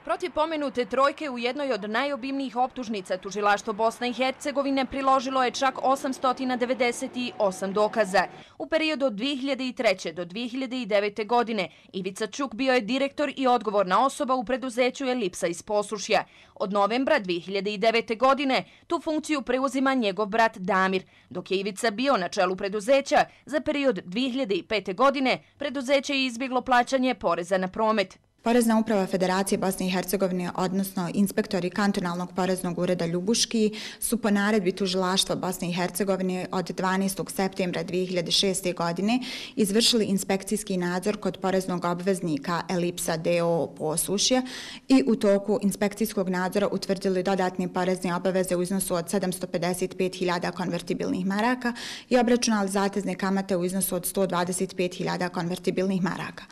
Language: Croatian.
Protiv pomenute trojke u jednoj od najobimnijih optužnica tužilaštvo Bosne i Hercegovine priložilo je čak 898 dokaza. U periodu od 2003. do 2009. godine Ivica Čuk bio je direktor i odgovorna osoba u preduzeću Elipsa iz Posušja. Od novembra 2009. godine tu funkciju preuzima njegov brat Damir, dok je Ivica bio na čelu preduzeća. Za period 2005. godine preduzeće je izbjeglo plaćanje poreza na promet. Porezna uprava Federacije Bosne i Hercegovine, odnosno inspektori kantonalnog poreznog ureda Ljubuški, su po naredbi tužilaštva Bosne i Hercegovine od 12. septembra 2006. godine izvršili inspekcijski nadzor kod poreznog obveznika Elipsa d.o.o. Posušje i u toku inspekcijskog nadzora utvrdili dodatne porezne obaveze u iznosu od 755.000 konvertibilnih maraka i obračunali zatezne kamate u iznosu od 125.000 konvertibilnih maraka.